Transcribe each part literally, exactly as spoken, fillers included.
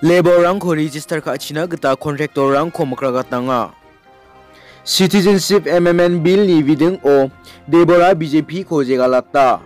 Labour-rangko register ka·china gita contractor-rangko mikragatnanga. Citizenship Amendment Bill-ni bidingo Debora B J P-ko jegalata.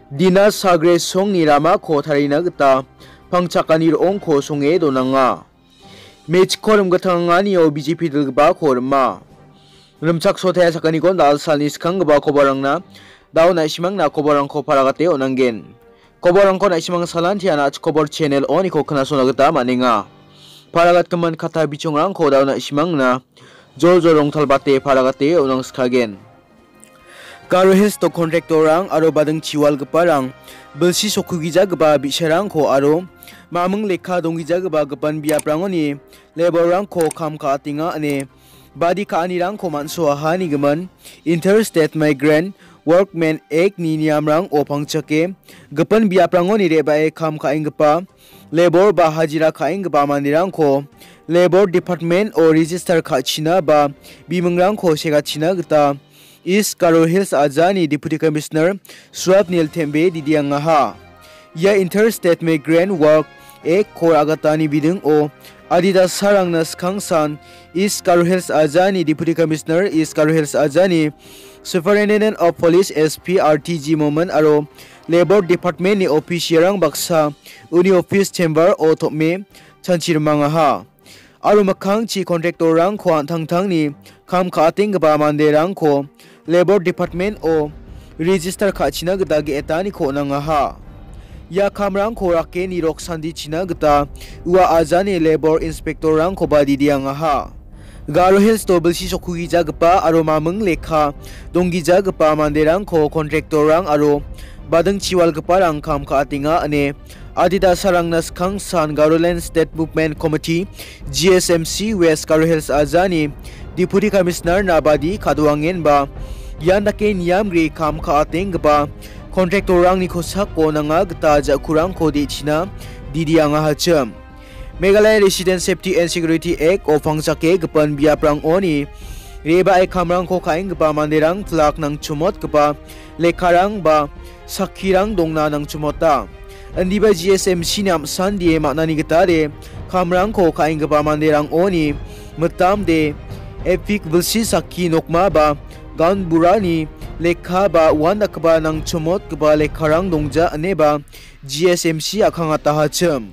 Dina sagre songni ramako tarina gita pangchakani ro·ongko songe donanga. Mechikko rimgitanganio B J P dilgipako rima. Rimchaksotea sakaniko dal salni skanggipa kobarangna dao na·simangna kobarangko paragate on·angen. Kobarangko na·simang salantian a·chik kobor channel oniko knasona gita man·enga. Paragatgimin kata bichongrangko dao na·simangna jol jol rongtalbate paragate on·angskagen. Garo Hills-o contractor-rang aro bading chiwalgiparang bilsi sokkugijagipa bi·sarangko aro maming lekka donggijagipa gipin biaprangoni labour-rangko kam ka·atenga ine badi ka·anirangko man·soaha nigimin Interstate Migrant Workmen Act-ni niamrango pangchake gipin biaprangoni re·bae kam ka·enggipa labour ba hajira ka·enggipa manderangko Labour Department-o register ka·china ba bimingrangko segachina gita East Garo Hills ajani Deputy Commissioner Swapnil Tembe didiangaha. Ia Interstate Migrant Work Act-ko agatani bidingo adita sarangna skangsan East Garo Hills ajani Deputy Commissioner, East Garo Hills ajani Superintendent of Police, S P, R T G Momin aro Labour Department-ni official-rang baksa uni office chamber-o tom·e chanchirimangaha. Aro mikkangchi contractor-rangko an·tangtangni kam ka·atenggipa manderangko Labour Department-o register ka·china gita ge·etaniko on·angaha. Ia kamrangko rake nirok sandichina gita ua ajani Labour Inspector-rangkoba didiangaha. Garo Hills-o bilsi sokkugijagipa aro maming lekka donggijagipa manderangko contractor-rang aro bading chiwalgiparang kam ka·atenga ine adita sarangna skangsan Garoland State Movement Committee, G S M C, West Garo Hills ajani Deputy Commissioner-na badi kadoangenba ian dake niamgri kam ka·atenggipa contractor-rangni kosako nanga gita ja·kurangko de·china didiangahachim. Meghalaya Resident Safety and Security Act-o pangchake gipin biaprangoni re·bae kamrangko ka·enggipa manderang plak nangchomotgipa lekkarang ba sakkirang dongna nangchomota. Indiba G S M C-ni am·sandie man·ani gitade kamrangko ka·enggipa manderangoni mitamde epik bilsi sakki nokma ba gaon burani lekka ba uandakgipa nangchomotgipa lekkarang dongja ineba G S M C a·kangatahachim.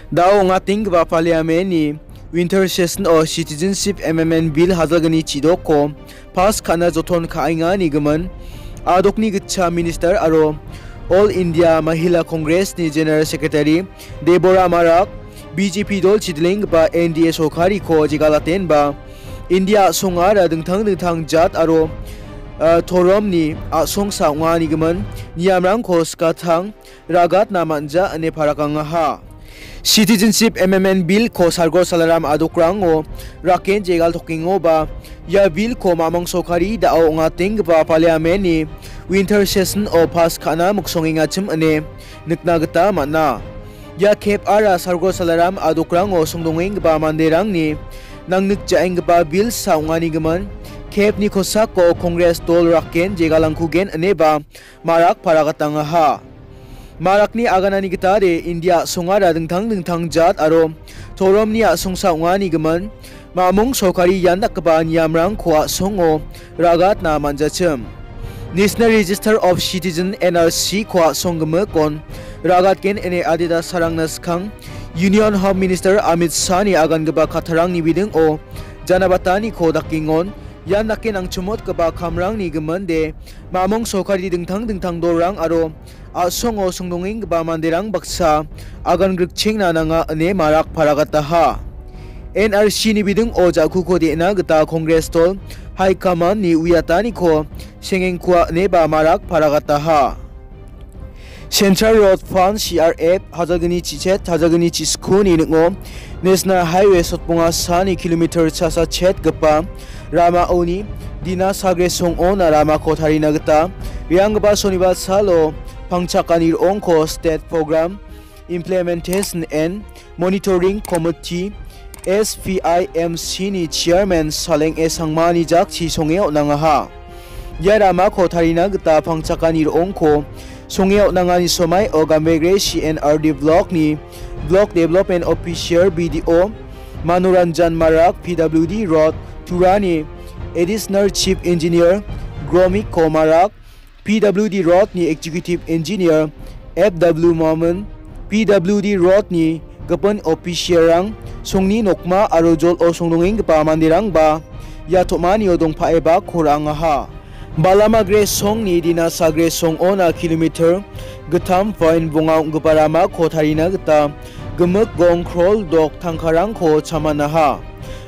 Dao ong·atenggipa Parliament-ni Winter Session-o Citizenship Amendment Bill hajalgni chidokko pass ka·na joton ka·enga nigimin, adokni gitcham minister aro All India Mahila Congress-ni General Secretary Deborah Marak B J P dol chidilenggipa N D A sorkariko jegalatenba India a·songara dingtang dingtang jat aro, ah, toromni a·songsa ong·a nigimin niamrangko skatang ragatna man·ja ine parakangaha. Citizenship Amendment Bill-ko Sargor Salaram adokrango raken jegal tokengoba ia Bill-ko mamong sorkari dao ong·atenggipa Parliament-ni Winter Session-o pass ka·na miksongengachim ine nikna gita man·a. Ia kepara Sargor Salaram adokrango songdongenggipa manderangni nangnikjaenggipa Bill-sa ong·anigimin kepni kosako Congress dol raken jegalangkugen ineba Marak paragatangaha. Marakni aganani gitade India a·songara dingtang dingtang jat aro toromni a·songsa ong·anigimin, mamong sorkari ian dakgipa niamrangko a·songo ragatna man·jachim. National Register of Citizen, N R C-ko a·song gimikon ragatgen ine adita sarangna skang Union Home Minister Amit Shah-ni agangipa kattarangni bidingo janabataniko dakengon, ian dake nangchomotgipa kamrangni giminde mamong sorkari dingtang dingtang dolrang aro a·songo songdongenggipa manderang baksa agan grikchengna nanga ine Marak paragataha. N R C-ni bidingo ja·kuko de·na gita Congress dol High Command-ni uiataniko sengengkua ineba Marak paragataha. Central Road Fund, C R F, hajalgni chichet, hajalgni chiskuni ning·o National Highway sotbonga sani kilometer chasa chetgipa ramaoni dina sagre song·ona ramako tarina gita reanggipa sonibar salo pangchakani ro·ongko State Program Implementation and Monitoring Committee, S P I M C-ni chairman Saleng A Sangmani jakchi songe on·angaha. Ia ramako tarina gita pangchakani ro·ongko songe on·angani somaio Gambegre C N R D block-ni Block Development Officer, B D O, Manoranjan Marak, P W D Road, Turani Additional Chief Engineer, Gromik Komarak, P W D Road-ni Executive Engineer, F W Mohammed, P W D Road-ni gipin official-rang, songni nokma aro jol·o songnongenggipa manderangba ia tom·anio dongpaeba ko ra·angaha. Balamagre songni Dinasagre song-ona kilometer gittam point bonga ong·gipa ramako tarina gita gimik gong krol dok tangkarangko chamanaha.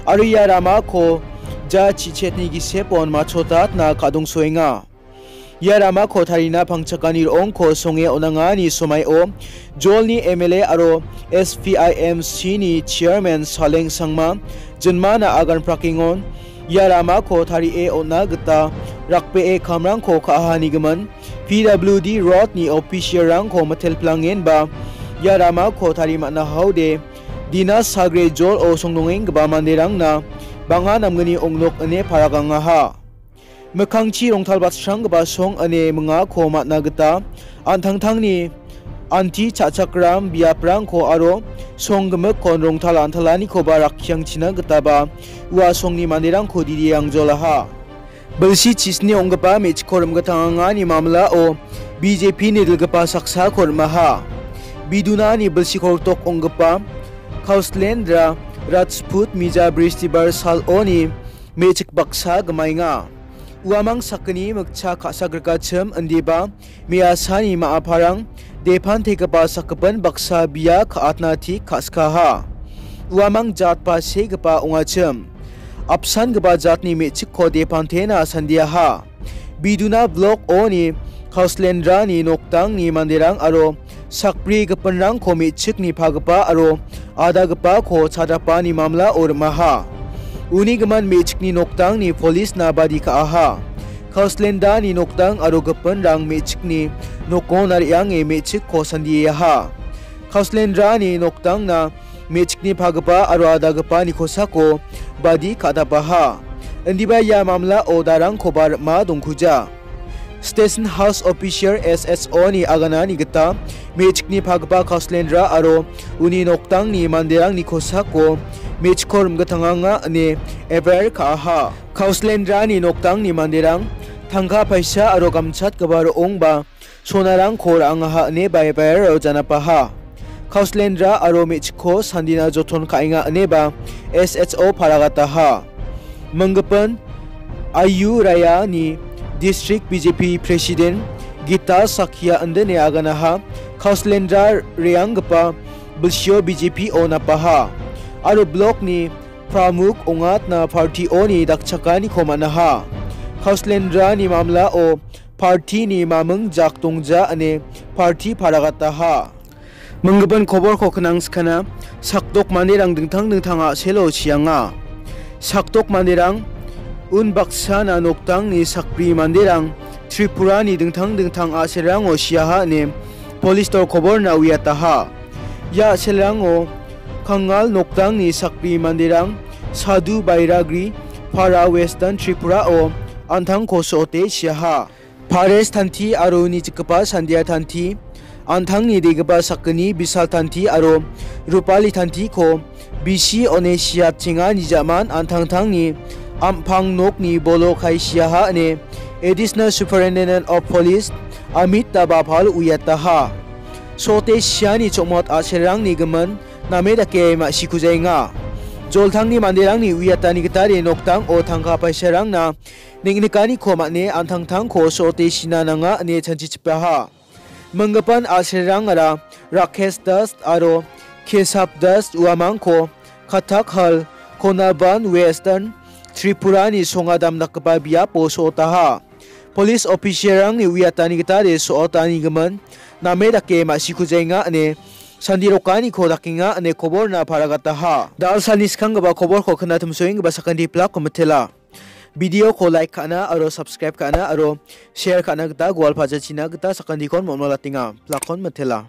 Aro ia ramako ja chichetni gisepon machotatna ka·dongsoenga. Ia ramako tarina pangchakani ro·ongko songe on·angani somaio jolni M L A aro S P I M C-ni chairman Saleng Sangma jinmana agan prakengon ia ramako tarie on·na gita rakbee kamrangko ka·ahanigimin P W D Road-ni official-rangko mitelplangenba ia ramako tari man·a haode Dinasagre jol·o songnongenggipa manderangna bang·a namgni ong·nok ine paragangaha. Mikkangchi rongtalbatsranggipa song ine mingako man·a gita an·tangtangni anti cha·chakram biaprangko aro song gimikkon rongtal an·talanikoba rakkiangchina gitaba ua songni manderangko didi angjolaha. Bilsi chisni ong·gipa me·chikko rim·gitangangani mamlao B J P-ni dilgipa saksako rim·aha. Bidunani bilsi koltok ong·gipa Kauslendra Rajput mija bristibar saloni me·chik baksa gimaenga. Uamang sakgni mikcha ka·sa grikachim indiba me·asani ma·aparang depantegipa sakgipin baksa bia ka·atna tik ka·skaha. Uamang jatba segipa ongachim. Apsangipa jatni me·chikko depantena sandiaha. Biduna blok oni Kauslendrani nokdangni manderang aro sakbri gipinrangko me·chikni pagipa aro adagipako chadapani mamlao rim·aha. Uni gimin me·chikni nokdangni polisna badi ka·aha. Kauslendani nokdang aro gipinrang me·chikni nokona re·ange me·chikko sandiaha. Kauslendrani nokdangna me·chikni pagipa aro adagipani kosako badi ka·dapaha. Indiba ia mamlao darangkoba rim·a dongkuja. Station House Officer S S O-ni aganani gita me·chikni pagipa Kauslendra aro uni nokdangni manderangni kosako me·chikko rim·gitanganga ine F I R ka·aha. Kauslendrani nokdangni manderang tangka paisa aro gamchatgipa ro·ongba sonarangko ra·angaha ine F I R-o janapaha. Kauslendra aro me·chikko sandina joton ka·enga ineba S H O paragataha. Minggipin Ayu Rayani District B J P President Gita Sakya indine aganaha Kauslendra re·anggipa bilsio B J P-o napaha. Aro blokni Pramuk ong·atna party-oni dakchakaniko man·aha. Kauslendrani mamlao party-ni maming jak dongja ine party paragataha. Minggipin koborko knangskana sakdok manderang dingtang dingtang a·selo chianga. Sakdok manderang unbaksana nokdangni sakbri manderang Tripurani dingtang dingtang a·selrango chiaha ine police-o koborna uiataha. Ia a·selrango Kangal nokdangni sakbri manderang Sadu Bairagri para Western Tripura-o an·tangko so·ote chiaha. Pares Tanti aro uni chikgipa Sandia Tanti, an·tangni degipa sakgni Bisal Tanti aro Rupali Tantiko bisi one siatchenga nijaman an·tangtangni am·pang nokni bolo kae chiaha ine Additional Superintendent of Police Amit Dabapal uiataha. So·ote chiani chongmot a·selrangni gimin name dake ma·sikujaenga. Joltangni manderangni uiatani gitade nokdango tangka paisarangna neng·nikaniko man·e an·tangtangko so·ote china nanga ine chanchichipaha. Minggipin a·selrangara Rakesh Das aro Kesab Das uamangko Kathak Hall, Konaban, Western Tripurani songa damdakgipa biapo so·otaha. Police officer-rangni uiatani gitade so·otanigimin name dake ma·sikujaenga ine sandirokaniko dakenga ine koborna paragataha. Dal·salni skanggipa koborko knatimsoenggipa sakantipilako mitela. Video-ko like ka·na aro subscribe ka·na aro share ka·na gita gual pajachina gita sakantikon mon·malatenga. Pilakon mitela.